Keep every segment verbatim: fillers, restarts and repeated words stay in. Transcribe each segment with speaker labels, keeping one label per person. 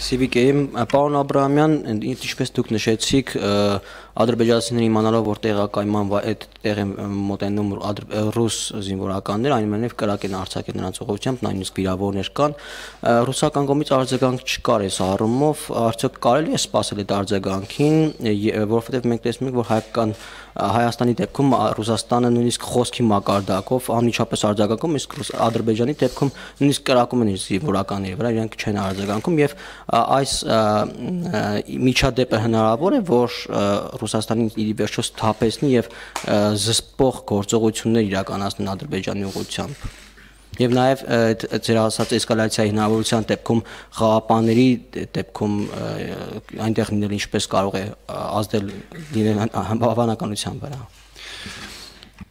Speaker 1: Civic-ում, պարոն Աբրահամյան, ինչպես դուք նշեցիք, ադրբեջանցիները իմանալով, որ տեղակայման այդ տեղ են մոտենում ռուս զինվորականներ, այնուամենայնիվ կրակ են արձակել նրանց ուղղությամբ, նույնիսկ վիրավորներ կան, ռուսական կողմից արձագանք չկար այս առումով, արդյոք կարելի է սպասել այդ արձագանքին, որովհետև մենք տեսնում ենք, որ հայկական Հայաստանի դեպքում Ռուսաստանը նույնիսկ խոսքի մակարդակով անմիջապես արձագանքում, իսկ Ադրբեջանի դեպքում նույնիսկ կրակում են իր զինվորականների վրա, իրենք չեն արձագանքում եւ այս միջադեպը հնարավոր է, որ Ռուսաստանին ի վերջո սթափեցնի եւ զսպող գործողություններ իրականացնեն Ադրբեջանի ուղղությամբ։ Եվ նաև ձեր ասած էսկալացիայի հնարավորության դեպքում խաղապանների դեպքում այնտեղ լինել ինչպես կարող է ազդել հավանականության վրա։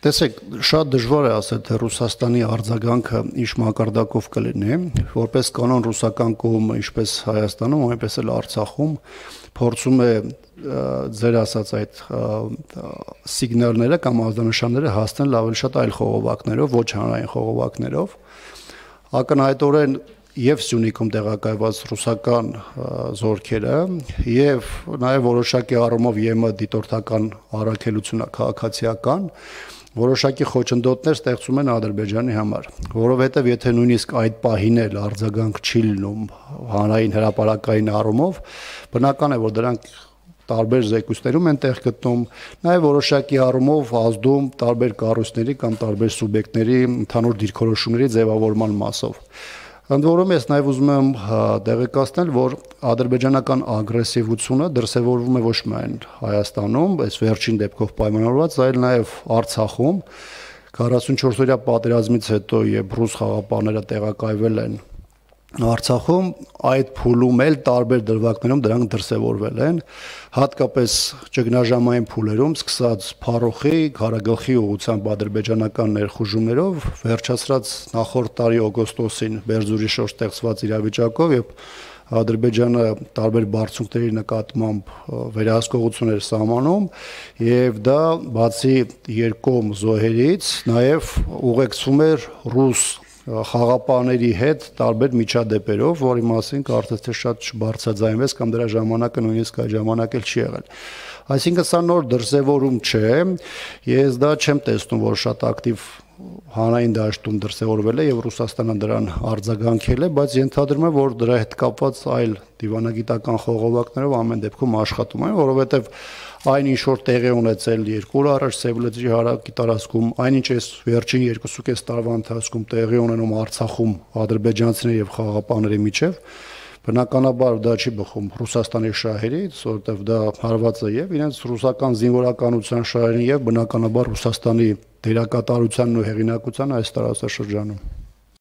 Speaker 2: Տեսեք, շատ դժվար է ասել, թե Ռուսաստանի արձագանքը ինչ մակարդակով կլինի, որպես կանոն ռուսական կողմը ինչպես Հայաստանում, այնպես էլ Արցախում փորձում է ձեր ասած այդ սիգնալները կամ ազդանշանները հասնել ավելի շատ այլ խողովակներով, ոչ հանրային խողովակներով։ Ակնհայտորեն եւ Սյունիքում տեղակայված ռուսական զորքերը եւ նաեւ որոշակի առումով ԵՄ դիտորդական առաքելությունը քաղաքացիական որոշակի խոչընդոտներ ստեղծում են Ադրբեջանի համար, որովհետեւ եթե նույնիսկ այդ պահին էլ արձագանք չի լինում հանրային հրապարակային առումով, բնական է, որ դրանք տարբեր զեկույցներում են տեղ գտնում, նաև որոշակի առումով ազդում տարբեր կառույցների կամ տարբեր սուբյեկտների ընդհանուր դիրքորոշումների ձևավորման մասով։ Ընդ որում ես նաև ուզում եմ տեղեկացնել, որ ադրբեջանական ագրեսիվությունը դրսևորվում է ոչ միայն Հայաստանում, այս վերջին դեպքով պայմանավորված, այլ նաև Արցախում քառասունչորսօրյա պատերազմից հետո, երբ ռուս խաղապանները տեղակայվել են Արցախում, այդ փուլում էլ տարբեր դրվագներում դրանք դրսևորվել են, հատկապես ճգնաժամային փուլերում, սկսած Փարոխի, Ղարագլխի ուղղությամբ ադրբեջանական ներխուժումներով, վերջացրած նախորդ տարի օգոստոսին Բերձորի շուրջ ստեղծված իրավիճակով, երբ Ադրբեջանը տարբեր բարձունքների նկատմամբ վերահսկողություն էր սահմանում, եւ դա բացի երկկողմ զոհերից, նաեւ ուղեկցվում էր ռուս խաղապանների հետ տարբեր միջադեպերով, որի մասին կարծես թե շատ չբարձրաձայնվեց կամ դրա ժամանակը նույնիսկ այդ ժամանակ էլ չի եղել։ Այսինքն սա նոր դրսևորում չէ, ես դա չեմ տեսնում, որ շատ ակտիվ հանրային դաշտում դրսևորվել է եւ Ռուսաստանը դրան արձագանքել է, բայց ենթադրում եմ, որ դրա հետ կապված այլ դիվանագիտական խողովակներով ամեն դեպքում աշխատում են, որովհետեւ այն ինչ որ տեղի ունեցել երկու օր առաջ Սևլեդրի հարակի տարածքում, այնինչ էս վերջին երկուսուկես տարվա ընթացքում տեղի ունենում Արցախում ադրբեջանցիների եւ խաղապանների միջև, բնականաբար դա չի բխում Ռուսաստանի շահերից, որովհետեւ դա հարված է եւ իրենց ռուսական զինվորականության շահերին եւ բնականաբար Ռուսաստանի դերակատարությանն ու հեղինակության այս տարածաշրջանում։